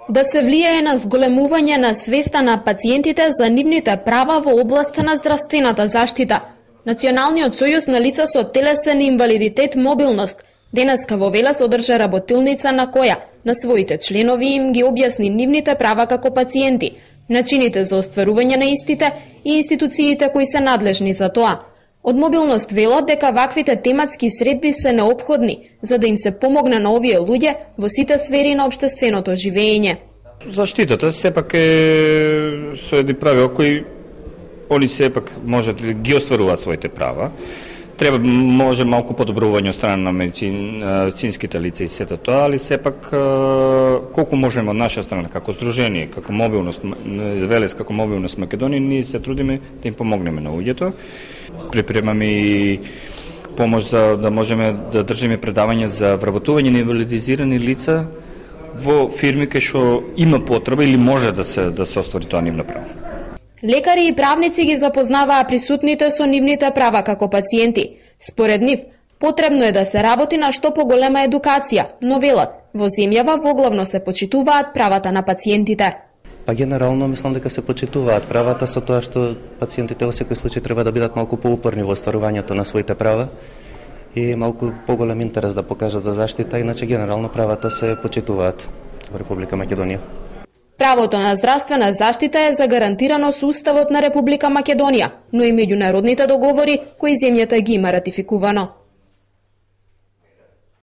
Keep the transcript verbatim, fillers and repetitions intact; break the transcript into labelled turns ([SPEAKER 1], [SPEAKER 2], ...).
[SPEAKER 1] Да се влијае на зголемување на свеста на пациентите за нивните права во областа на здравствената заштита. Националниот сојуз на лица со телесен инвалидитет мобилност денеска во Велес одржа работилница на која на своите членови им ги објасни нивните права како пациенти, начините за остварување на истите и институциите кои се надлежни за тоа. Од мобилност велат дека ваквите тематски средби се неопходни за да им се помогне на овие луѓе во сите сфери на општественото живење.
[SPEAKER 2] Заштитата сепак е со едни правила кои они сепак можат да ги остваруваат своите права. Треба може малку подобрување од страна на медицин, медицинските лица и сето тоа, али сепак колку можеме од наша страна како здружение, како мобилност Велес, како мобилност Македонија, ние се трудиме да им помогнеме на луѓето. Припремаме и помош за да можеме да држиме предавања за вработување на инвалидизирани лица во фирми кај што има потреба или може да се да се оствари тоа нивно право.
[SPEAKER 1] Лекари и правници ги запознаваа присутните со нивните права како пациенти. Според нив, потребно е да се работи на што поголема едукација, но велат, во земјава воглавно се почитуваат правата на пациентите.
[SPEAKER 3] Па генерално мислам дека се почитуваат правата, со тоа што пациентите во секој случај треба да бидат малку поупорни во остварувањето на своите права и малку поголем интерес да покажат за заштита, иначе генерално правата се почитуваат во Република Македонија.
[SPEAKER 1] Правото на здравствена заштита е загарантирано со Уставот на Република Македонија, но и меѓународните договори кои земјата ги има ратификувано.